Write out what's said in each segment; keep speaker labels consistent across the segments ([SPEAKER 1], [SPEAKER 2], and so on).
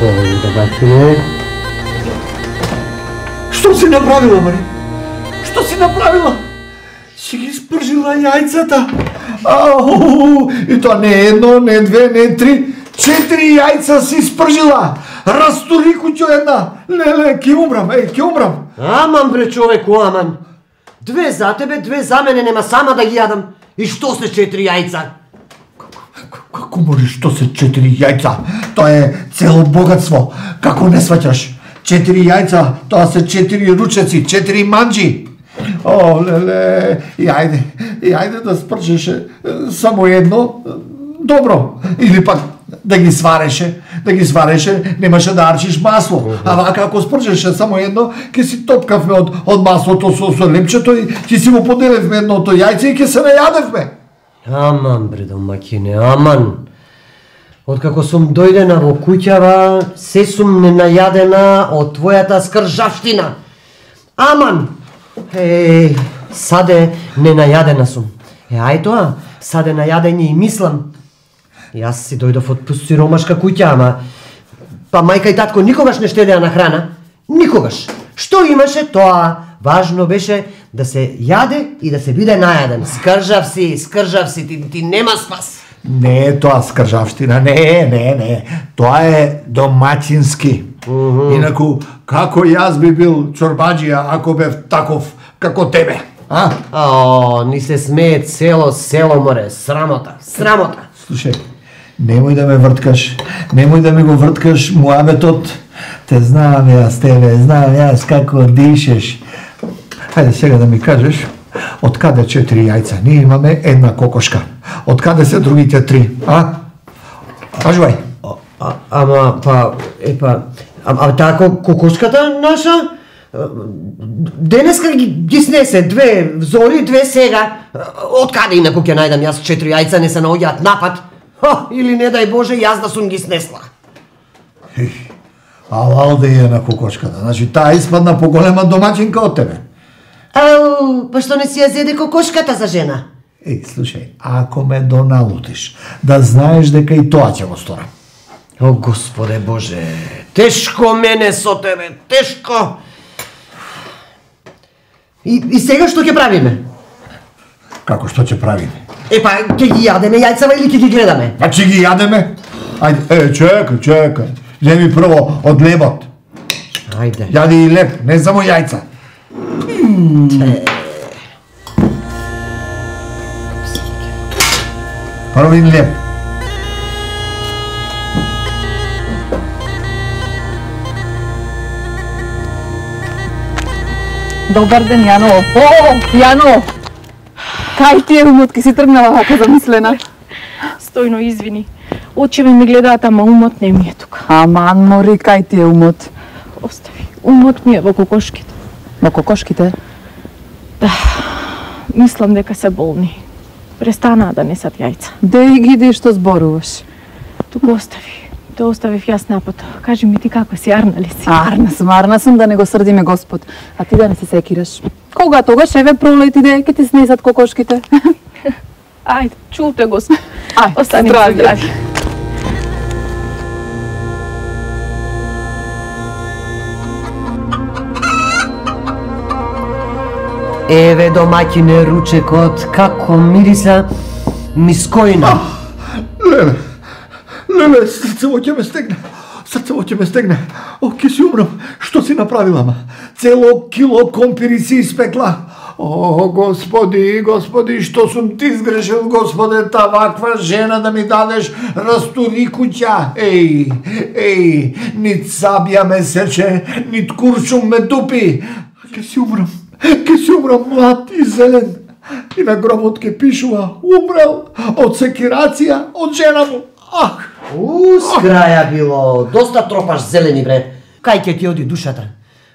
[SPEAKER 1] Добачине.
[SPEAKER 2] Што си направила, Мари? Што си направила? Си ги спржила јајцата. И тоа не едно, не две, не три, 4 јајца си спржила. Растури куќо една. Леле, ке умрам, ке умрам.
[SPEAKER 1] Аман бре човеку, аман. 2 за тебе, 2 за мене, нема сама да ги јадам. И што се 4 јајца?
[SPEAKER 2] Како можеш, што се 4 јајца? Тоа е цело богатство. Како не сваќаш? 4 јајца, тоа се 4 ручеци, 4 манџи. О, леле, и ајде да спрчеше само едно, добро. Или пак да ги свареше, немаше да арчиш масло. А вака ако спрчеше само едно, ќе си топкавме од маслото со лепчето и ќе си го поделевме едното јајце и ќе се најадевме.
[SPEAKER 1] Аман бре домаќине, аман. Откако сум дојдена во куќава, се сум ненајадена од твојата скржавштина. Аман! Саде ненајадена сум. Ај тоа, саде најадење и мислам. Јас си дојдов од сиромашка куќа, ама па мајка и татко никогаш не штедеа на храна. Никогаш. Што имаше, тоа важно беше да се јаде и да се биде најаден. Скржав си, ти нема спас.
[SPEAKER 2] Не е тоа скржавштина, не. Тоа е домаќински. Инаку, како јас би бил чорбаџија ако бев таков како тебе, а?
[SPEAKER 1] Ни се смее цело село, море, срамота.
[SPEAKER 2] Слушај, немој да ме врткаш, немој да ми го врткаш муабетот. Те знам јас тебе, знам јас како дишеш. Хајде сега да ми кажеш, од каде 4 јајца? Ние имаме една кокошка. Од каде се другите 3, а? Кажувај.
[SPEAKER 1] Ама таа кокошката наша денеска ги снесе 2 зори, 2 сега. Од каде инаку ќе најдам јас 4 јајца, не се наоѓаат напад? Или не дај Боже, јас да сум ги снесла.
[SPEAKER 2] Алал да е на кокошката. Значи таа испадна поголема домаќинка од тебе.
[SPEAKER 1] Па што не си ја зеде кокошката за жена?
[SPEAKER 2] Слушај, ако ме доналутиш, да знаеш дека и тоа ќе го сторам.
[SPEAKER 1] О, Господе Боже, тешко мене со тебе, тешко. И сега што ќе правиме?
[SPEAKER 2] Како што ќе правиме?
[SPEAKER 1] Ќе ги јадеме јајцава или ќе ги гледаме?
[SPEAKER 2] Па ќе ги јадеме. Ајде, чекај. Земи прво од лебот.
[SPEAKER 1] Ајде.
[SPEAKER 2] Јади и леб, не само јајца. Прво и леб.
[SPEAKER 3] Добар ден, Јано. Јано! Кај ти е умот, ке си тргнала вака замислена?
[SPEAKER 4] Стојно, извини. Очеве ми гледаат, ама умот не ми е тука.
[SPEAKER 3] Аман, мори, кај ти е умот?
[SPEAKER 4] Остави. Умот ми е во кокошките.
[SPEAKER 3] Во кокошките?
[SPEAKER 4] Да. Мислам дека се болни. Престанаа да несат јајца.
[SPEAKER 3] Деј ги што зборуваш.
[SPEAKER 4] Туку остави. Те оставив јас напото. Кажи ми ти како си, арна ли си?
[SPEAKER 3] Арна сум, да не го срдиме Господ. А ти да не се секираш. Кога тогаш, еве пролет иде, ке ти снесат кокошките.
[SPEAKER 4] Ајде, чулте го.
[SPEAKER 3] Ајде,
[SPEAKER 4] остани здрави.
[SPEAKER 1] Еве домаќине ручекот, како мириса мискоина.
[SPEAKER 2] Леле, срцево ќе ме стегне. О, ќе си умрам. Што си направила, ама? Цело кило компири си испекла. О, Господи, што сум ти сгрешил, Господе, та ваква жена да ми дадеш растури куќа. Нит сабја ме сече, нит куршум ме тупи. Ќе си умрам млад и зелен. И на гробот ќе пишува, умрел од секирација од жена му.
[SPEAKER 1] С краја било, доста тропаш зелени, бре. Кај ќе ти оди душата?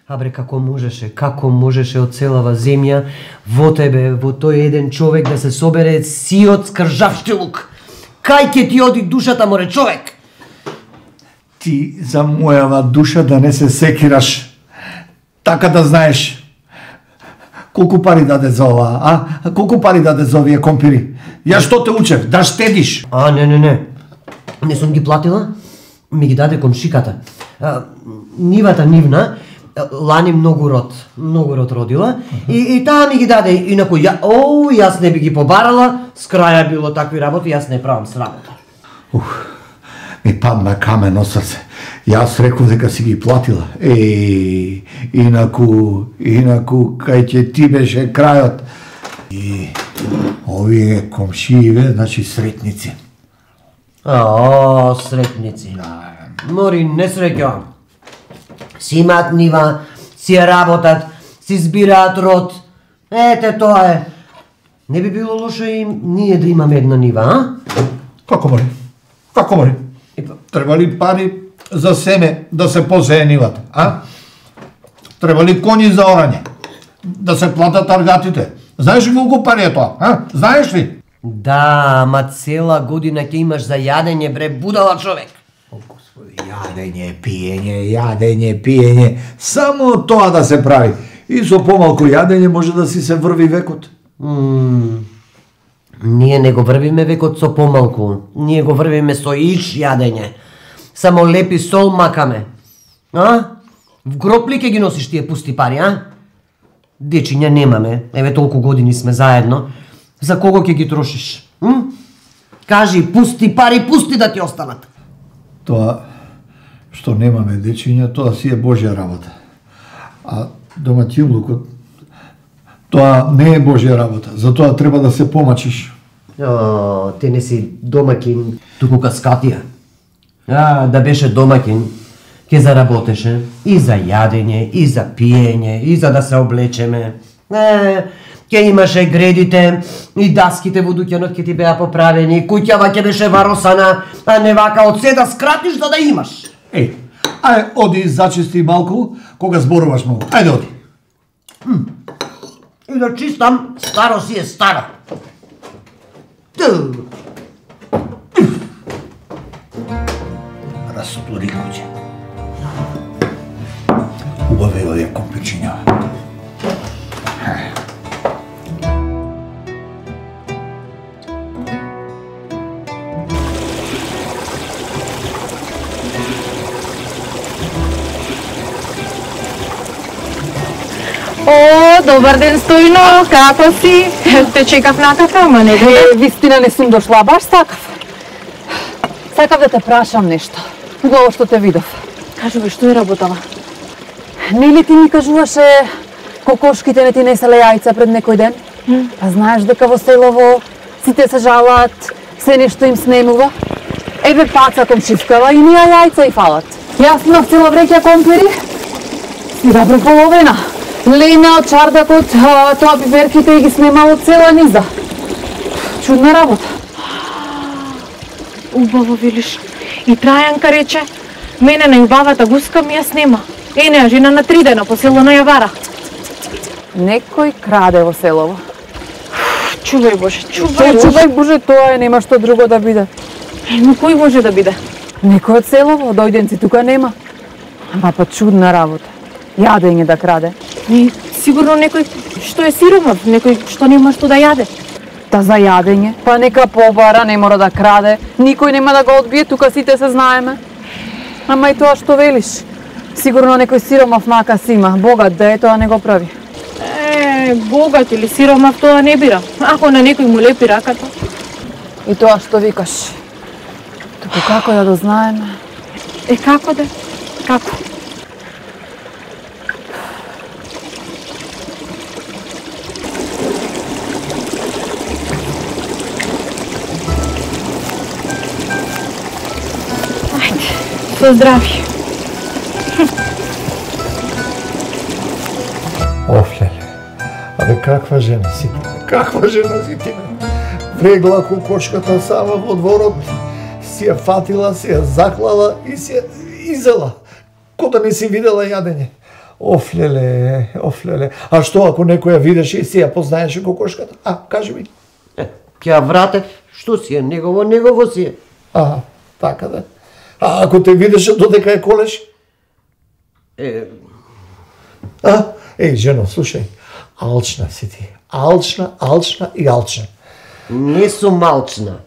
[SPEAKER 1] Бре, како можеше од целава земја во тебе, во тој еден човек да се собере сиот скржавштилук? Кај ќе ти оди душата, море, човек?
[SPEAKER 2] Ти за мојава душа да не се секираш. Така да знаеш. Колку пари даде за ова, а? Колку пари даде за овие компири? Ја што те учев? Да штедиш?
[SPEAKER 1] Не. Не сум ги платила. ми ги даде комшиката. Нивата нивна, лани многу род родила, и таа ми ги даде, инаку јас не би ги побарала, с краја било такви работи, јас не правам срамота.
[SPEAKER 2] Ми падна камен на срце. Јас реков дека си ги платила. Инаку, кај ќе ти беше крајот. И овие комшиеве, значи сретници.
[SPEAKER 1] Сретници. Мори не среќавам. Си имаат нива, си ја работат, си збираат род. Ете тоа е. Не би било лошо и ние да имаме една нива, а?
[SPEAKER 2] Како мори? Треба ли пари за семе да се посее нивата, а? Треба ли коњи за орање? Да се платат аргатите? Знаеш ли колку пари е тоа, а? Знаеш ли?
[SPEAKER 1] Да, ама цела година ќе имаш за јадење, бре, будала човек.
[SPEAKER 2] Господи, јадење, пиење, само тоа да се прави. И со помалку јадење може да си се врви векот.
[SPEAKER 1] Ние не го врвиме векот со помалку, ние го врвиме со иш јадење. Само лепи сол макаме. А? В гроб ли ќе ги носиш тие пусти пари, а? Дечиња немаме, еве толку години сме заедно. За кого ќе ги трошиш? Кажи, пусти пари, пусти да ти останат.
[SPEAKER 2] Тоа што немаме дечиња, тоа си е Божја работа. А домаќинлукот, тоа не е Божја работа, затоа треба да се помачиш.
[SPEAKER 1] Ти не си домакин, туку каскатија. Да беше домакин, ќе заработеше и за јадење, и за пиење, и за да се облечеме. Ќе имаше гредите и даските во дуќанот ќе ти беа поправени, куќава ќе беше варосана, а не вака од се да скратиш за да имаш.
[SPEAKER 2] Ајде, оди зачисти малку, кога зборуваш многу. Ајде, оди.
[SPEAKER 1] И да чистам, старо си е старо.
[SPEAKER 2] Растури куќе. Убави овие компичиња.
[SPEAKER 4] Добар ден, Стојно, како си? Те чекав накака, ама не дојде.
[SPEAKER 3] Вистина не сум дошла, баш сакав. Сакав да те прашам нешто. Убаво што те видов.
[SPEAKER 4] Кажувај, што е работава?
[SPEAKER 3] Нели ти ми кажуваше кокошките не ти неселе јајца пред некој ден? А знаеш дека во селово сите се жалат, се нешто им снемува? Еве паца комшивкава и ние јајца и фалат. Јас имав цела вреќа компири и добро половина. Лена од чардакот, тоа пиперките и ги снемало цела низа. Чудна работа.
[SPEAKER 4] Убаво велиш. И Трајанка рече, мене на јубавата гуска ми ја снема. Неа жена на 3 дена по село на Јавара.
[SPEAKER 3] Некој краде во селово.
[SPEAKER 4] Чувај Боже,
[SPEAKER 3] Чувај Боже, тоа е, нема што друго да биде.
[SPEAKER 4] Но кој може да биде?
[SPEAKER 3] Некој од селово, дојденци тука нема. Ама па чудна работа. Јадење да краде.
[SPEAKER 4] Сигурно некој што е сиромав, некој што нема што да јаде.
[SPEAKER 3] Та за јадење, па нека побара, не мора да краде, никој нема да го одбие, тука сите се знаеме. Ама и тоа што велиш, сигурно некој сиромав мака си има, богат да е, тоа не го прави.
[SPEAKER 4] Богат или сиромав тоа не бира, ако на некој му лепи раката.
[SPEAKER 3] И тоа што викаш, туку како да дознаеме?
[SPEAKER 4] Како да? Како? Со здравје.
[SPEAKER 2] Офлеле, абе каква жена си ти? Каква жена си ти? Врегла кокошката сама во дворот, си ја фатила, си ја заклала и си ја изела. Ко да не си видела јадење. Офлеле. А што ако некој ја видеше и си ја познаеше кокошката? Кажи ми.
[SPEAKER 1] Ќе ја вратев, што си е, негово си е.
[SPEAKER 2] Така да. А ако те видеше додека ја колеш? Жено, слушај, алчна си ти. Алчна и алчна.
[SPEAKER 1] Не сум алчна.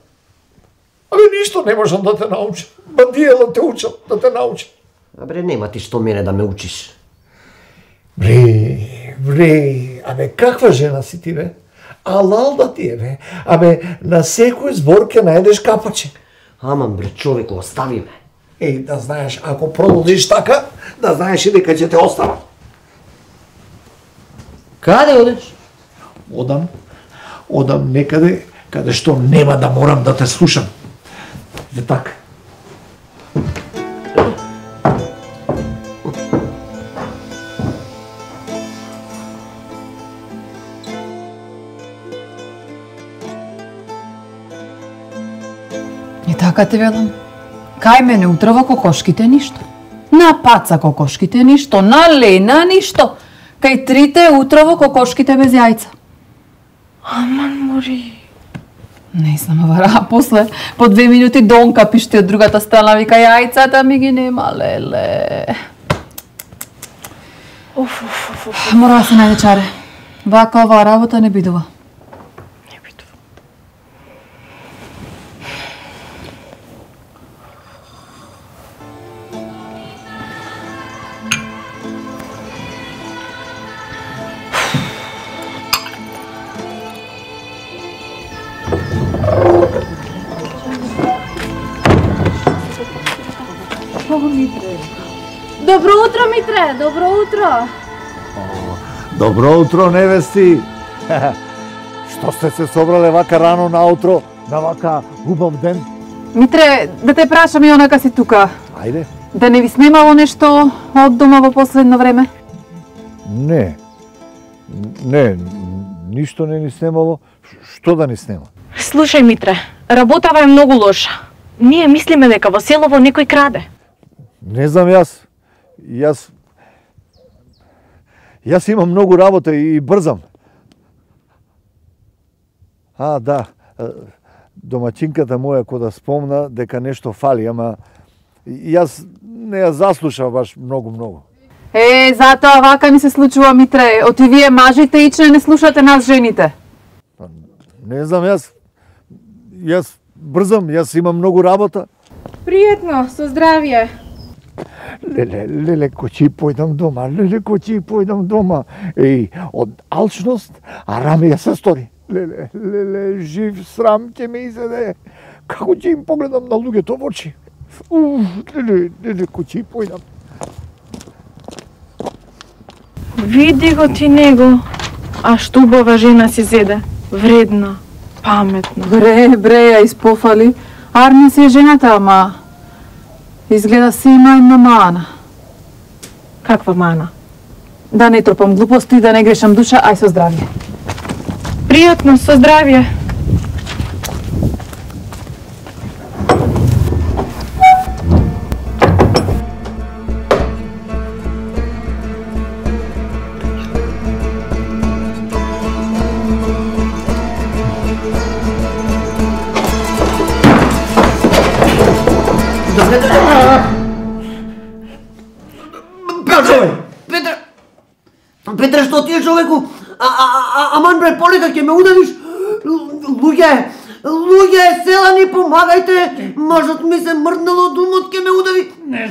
[SPEAKER 2] Абе, ништо не можам да те научам. Бандијело те учам да те научам.
[SPEAKER 1] Абре, нема ти што мене да ме учиш.
[SPEAKER 2] Вре, абе, каква жена си ти, бе? Алал да ти е, бе. Абе, на секој збор ќе најдеш капаче.
[SPEAKER 1] Аман, бре, човеко, остави ме.
[SPEAKER 2] Еј, да знаеш, ако продолжиш така, да знаеш и дека ќе те оставам.
[SPEAKER 1] Каде одеш?
[SPEAKER 2] Одам некаде каде што нема да морам да те слушам. Е така.
[SPEAKER 3] И така ти велам. Кај мене утро во кокошките ништо. На паца кокошките ништо, на лена ништо. Кај трите утро во кокошките без јајца.
[SPEAKER 4] Аман, мори.
[SPEAKER 3] Не знам, вара, после по 2 минути Донка пишти од другата страна, вика јајцата ми ги нема, леле. Мора да се најде чаре. Вака оваа работа не бидува.
[SPEAKER 5] Добро утро, Митре, добро утро.
[SPEAKER 2] Добро утро, невести. Што сте се собрале вака рано наутро, на вака убав ден?
[SPEAKER 3] Митре, да те прашам и онака си тука.
[SPEAKER 2] Ајде.
[SPEAKER 3] Да не ви снемало нешто од дома во последно време?
[SPEAKER 2] Не, ништо не ни снемало. Што да ни снема?
[SPEAKER 4] Слушај, Митре, работава е многу лоша. Ние мислиме дека во селово некој краде.
[SPEAKER 2] Не знам Јас имам многу работа и брзам. Да, домаќинката моја кода спомна дека нешто фали, ама јас не ја заслушав баш многу.
[SPEAKER 3] Затоа вака ни се случува, Митре. Оти вие мажите ичне не слушате нас жените.
[SPEAKER 2] Не знам, јас брзам, јас имам многу работа.
[SPEAKER 5] Пријатно, со здравје.
[SPEAKER 2] Леле, којчи појдам дома. Еј, од алчност, Арами ја се стори. Леле, жив срам ќе ме изеде. Како ќе им погледам на луѓето во очи? Леле, којчи појдам.
[SPEAKER 4] Види го ти него. А што убава жена си зеде. Вредна, паметна.
[SPEAKER 3] Бре, ја испофали. Арми си е жената, ама изгледа си има една мана.
[SPEAKER 4] Каква мана?
[SPEAKER 3] Да не тропам глупости, да не грешам душа, ај со здравје.
[SPEAKER 4] Пријатно, со здравје.
[SPEAKER 1] Петре, што ти е, човеку? Аман, бре, полека ќе ме удавиш? Луѓе, селани, помагајте! Мажот ми се мрднало, думот ќе ме удави.
[SPEAKER 2] Не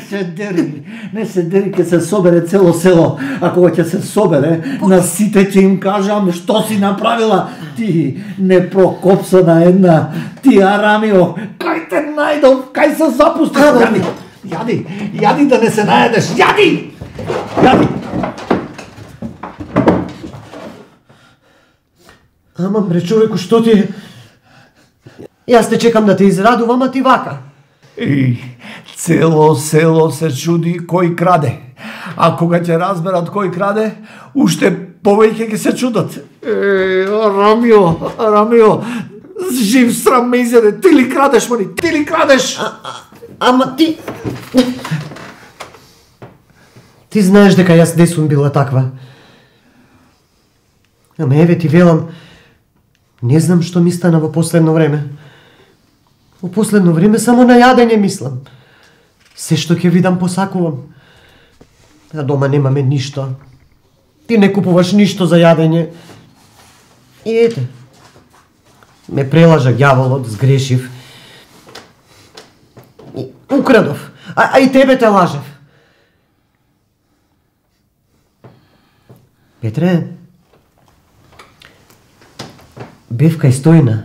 [SPEAKER 2] се дери, ќе се собере цело село. А кога ќе се собере, на сите ќе им кажам што си направила. Ти непрокопсана една, ти Арамио, кај те најдов, кај се запустиш? Јади да не се најдеш, јади!
[SPEAKER 1] Аман, бре, човеку, што ти е? Јас те чекам да те израдувам, а ти вака.
[SPEAKER 2] Цело село се чуди кој краде. А кога ќе разберат кој краде, уште повеќе ќе се чудат. Арамио, жив срам ме изеде. Ти ли крадеш, мани? Ти ли крадеш?
[SPEAKER 1] Ама ти... Ти знаеш дека јас не сум била таква. Ама еве ти велам, не знам што ми стана во последно време. Во последно време само на јадење мислам. Се што ќе видам посакувам. А дома немаме ништо. Ти не купуваш ништо за јадење. И ете. Ме прелажа ѓаволот, сгрешив. Украдов, а и тебе те лажев. Петре, бев кај Стојна.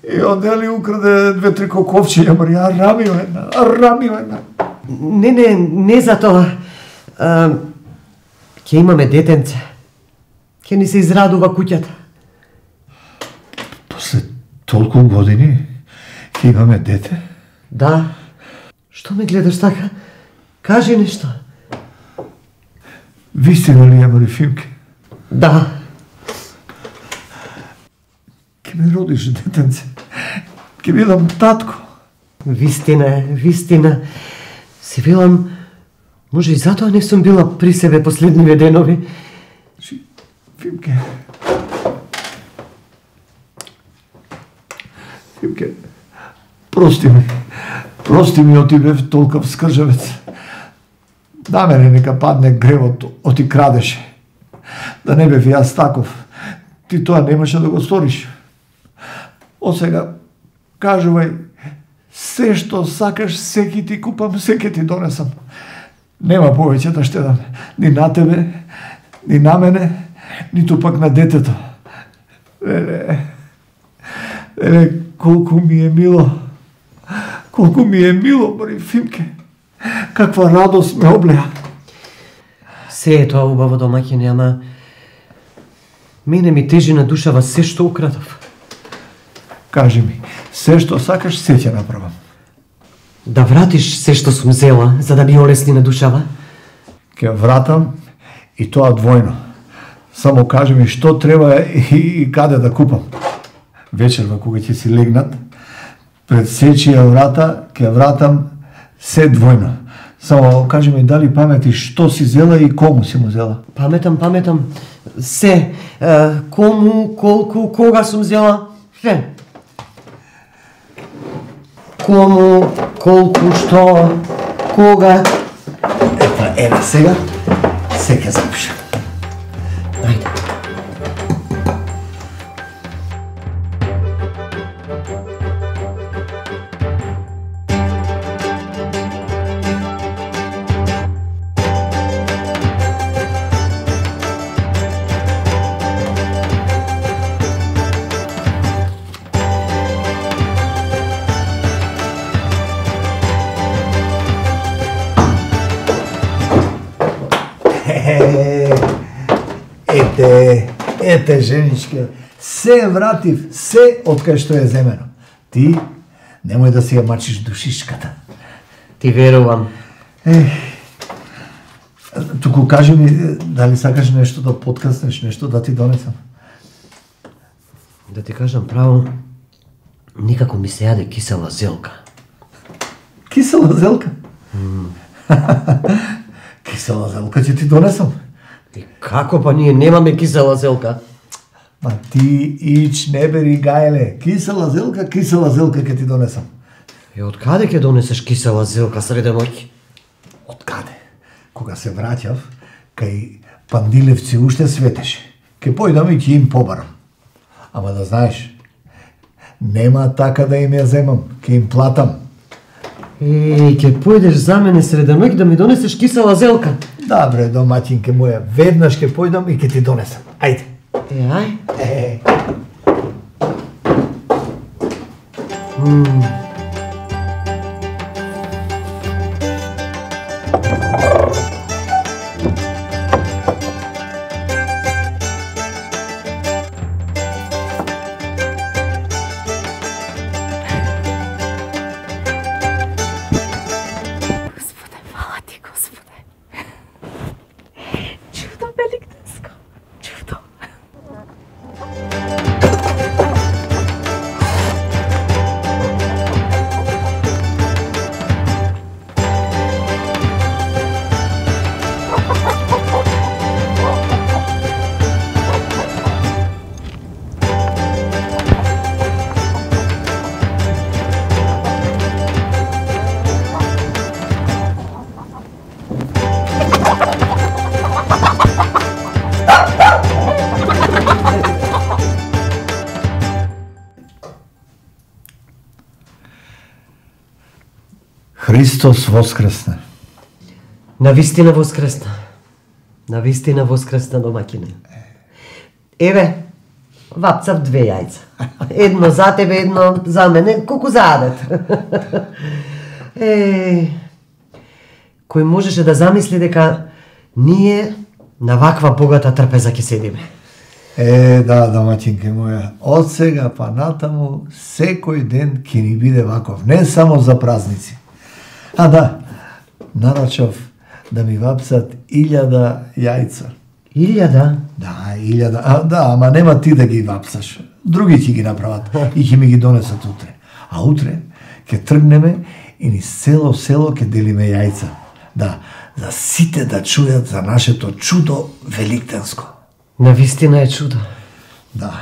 [SPEAKER 2] И одели украде 2-3 коковчиња, Марија, рамио една.
[SPEAKER 1] Не за тоа. Ќе имаме детенце. Ќе ни се израдува куќата.
[SPEAKER 2] После толку години ќе имаме дете?
[SPEAKER 1] Да. Што ме гледаш така? Кажи нешто.
[SPEAKER 2] Вистина ли е, Марифимке?
[SPEAKER 1] Да.
[SPEAKER 2] Ќе ми родиш детенце. Ќе бидам татко.
[SPEAKER 1] Вистина е, вистина. Се велам, може и затоа не сум била при себе последниве денови.
[SPEAKER 2] Фимке, прости ми оти бев толкав скржавец. На мене нека падне гревот оти крадеше. Да не бев јас таков, ти тоа немаше да го сториш. Од сега, кажувај, се што сакаш, се ќе ти купам, се ќе ти донесам. Нема повеќе да штедам, ни на тебе, ни на мене, ниту пак на детето. Колку ми е мило, Марифимке. Каква радост ме облеа.
[SPEAKER 1] Се е тоа убаво домаќине, ама мене ми тежи на душава се што украдов.
[SPEAKER 2] Кажи ми, се што сакаш, се ќе направам.
[SPEAKER 1] Да вратиш се што сум зела, за да ми олесни на душава?
[SPEAKER 2] Ќе вратам и тоа двојно. Само кажи ми што треба и каде да купам. Вечерва кога ќе си легнат, пред сечија врата ќе вратам се двојно. Само кажи ми дали паметиш што си зела и кому си му зела.
[SPEAKER 1] Паметам. Се. Кому, колку, кога сум зела? Се. Кому, колку, што, кога.
[SPEAKER 2] Еве сега, се ќе запишам.
[SPEAKER 1] Ајде.
[SPEAKER 2] Ете, женичке, се вратив, се од кај што е земено. Ти немој да си ја мачиш душишката.
[SPEAKER 1] Ти верувам.
[SPEAKER 2] Туку кажи ми, дали сакаш нешто да подкаснеш, нешто да ти донесам?
[SPEAKER 1] Да ти кажам право, никако ми се јаде кисела зелка.
[SPEAKER 2] Кисела зелка? Кисела зелка ќе ти донесам.
[SPEAKER 1] И како па ние немаме кисела зелка?
[SPEAKER 2] Ма ти ич не бери гајле. Кисела зелка ќе ти донесам.
[SPEAKER 1] И од каде ќе донесеш кисела зелка среде ноќ?
[SPEAKER 2] Од каде? Кога се враќав, кај Пандилевци уште светеше. Ке појдам и ќе им побарам. Ама да знаеш, нема така да им ја земам, ќе им платам.
[SPEAKER 1] Ќе појдеш за мене среде ноќ да ми донесеш кисела зелка?
[SPEAKER 2] Да, бре, домаќинке моја, веднаш ќе појдам и ќе ти донесам. Ајде.
[SPEAKER 1] Ај.
[SPEAKER 2] Христос воскресне.
[SPEAKER 1] Навистина воскресна. Навистина воскресна, домаќине. Еве, вапцав 2 јајца. Едно за тебе, едно за мене, колку заадет. Кој можеше да замисли дека ние на ваква богата трпеза ќе седиме?
[SPEAKER 2] Да, домаќинке моја, од сега па натаму секој ден ќе ни биде ваков, не само за празници. Да, нарачав да ми вапсат 1000 јајца.
[SPEAKER 1] 1000?
[SPEAKER 2] Да, 1000. Да, ама нема ти да ги вапсаш. Други ќе ги направат и ќе ми ги донесат утре. А утре ќе тргнеме и низ цело село ќе делиме јајца. Да, за сите да чујат за нашето чудо великденско.
[SPEAKER 1] Навистина е чудо.
[SPEAKER 2] Да,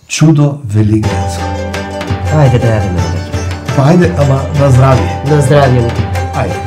[SPEAKER 2] чудо великденско.
[SPEAKER 1] Ајде да јадеме.
[SPEAKER 2] Па ајде, ама на здравје.
[SPEAKER 1] На здравје.
[SPEAKER 2] Ајде.